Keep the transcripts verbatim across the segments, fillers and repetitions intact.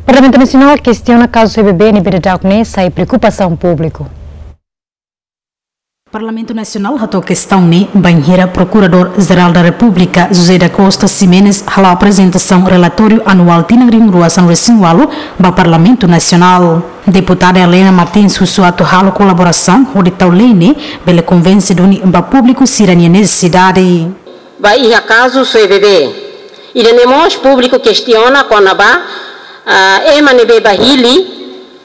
Parlamentu Nasionál kestiona kazu SOE-BB ne'ebé daudaun ne'e sai preokupasaun públiku. Parlamentu Nasionál hato'o kestaun ne'e bainhira Prokuradór Jerál da Repúblika, José da Costa Ximenes, hala'o aprezentasaun relatóriu anuál tinan rihun rua sanulu-resin-ualu ba Parlamentu Nasionál. Deputada Helena Martins husu atu halo kolaborasaun hodi tau lei ne'e bele konvense duni ba públiku sira-nia nesesidade. Ba iha kazu SOE-BB, ida-ne'e mós públiku kestiona kona-ba, ah, ema ne'ebé bá hili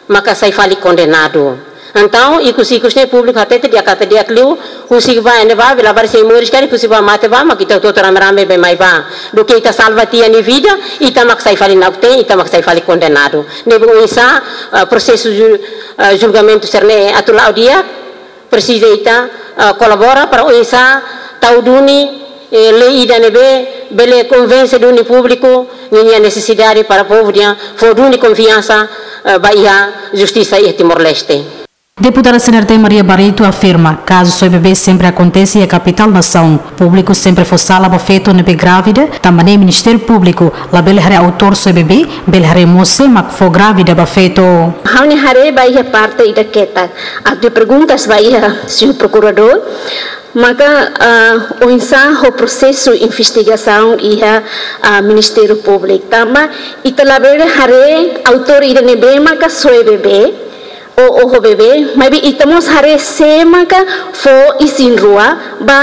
maka sai fali kondenadu. Entaun, ikus-ikus ne'e públiku hatete di'ak, hatete di'ak liu, husik bá ne'ebá, bele bá sei moris karik, husik bá mate bá, mak ita hotu-hotu rame-rame bá mai bá. Duké ita salva tiha nia vida, ita mak sai fali na'ok-teen, ita mak sai fali kondenadu. Ne'ebé oinsá, ah, prosesu ju-, ah, julgamentu sira-ne'e atu la'o di'ak, presiza ita, ah, kolabora para oinsá tau duni, eh, lei ida ne'ebé bele konvense duni públiku ninia nesesidade para povu nian fó duni konfiansa, eh, ba iha justisa iha Timor-Leste. Deputada C N R T Maria Barreto afirma, kazu SOE-BB sempre akontese iha kapitál nasaun. Públiku sempre fó sala ba feto ne'ebé grávida, tanba ne'e Ministériu Públiku labele haree autór SOE-BB, bele haree mós sé mak fó grávida ba feto. Ha'u-nia haree ba iha parte ida ketak. Atu perguntas ba iha señór prokuradór, maka, ah, oinsá ho prosesu investigasaun iha, ah, Ministériu Públiku. Tanba ita labele haree autór ida ne'ebé maka SOE-BB, ou oho bebé, maibé ita mós haree sé maka fó isin-rua ba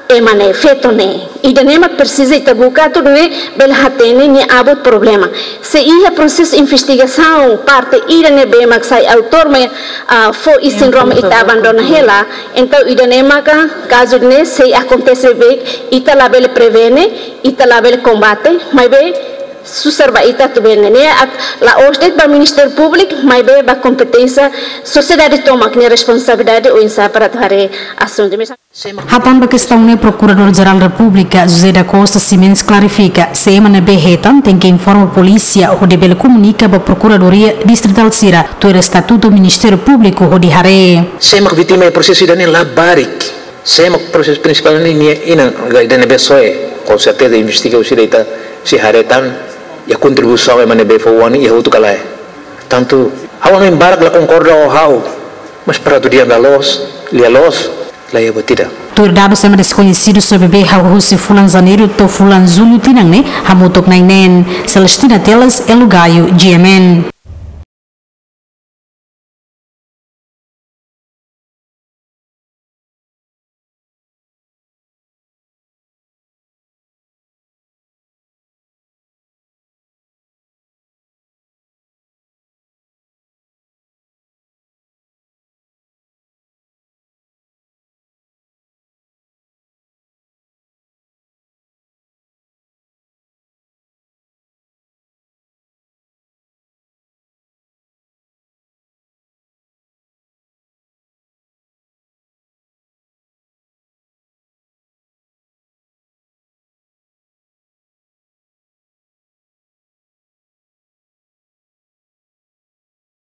ema ne'e, feto ne'e. Ida-ne'e mak presiza ita buka atu nune'e bele hatene nia abut problema. Se iha prosesu investigasaun parte ida ne'ebé mak sai autór mak, ah, fó isin-rua mak ita abandona hela, entaun ida-ne'e maka kazu ne'e sei akontese beibeik, ita labele prevene, ita labele kombate, maibé susar ba ita atu bele ne'e atu la'ós de'it ba Ministériu Públiku, maibé ba kompeténsia sosiedade tomak nia responsabilidade oinsá para atu haree asuntu. Hatán ba kestaun ne'e Prokuradór Jerál Repúblika José da Costa Ximenes klarifika, se ema ne'ebé hetan tenke informa polísia hodi bele komunika ba Prokuradoria Distritál sira tuir estatutu Ministériu Públiku hodi haree. Sé mak vítima iha prosesu ida-ne'e labarik. Sé mak prosesu prinsipál ne'e nia inan, ida ne'ebé SOE, com certeza investiga husi ida ita sei haree tan, iha kontribuisaun ema ne'ebé fó oan iha hotu ka lae. Tantu, ha'u hanoin barak la konkorda ho ha'u, mas para atu dehan la loos, lia loos, la iha buat ida. Tuir dadus ema deskoñesidu SOE-BB hahú husi fulan Janeiru to'o fulan Jullu tinan ne'e, hamutuk na'in neen. Celestina Teles, Elo Gayo, G M N.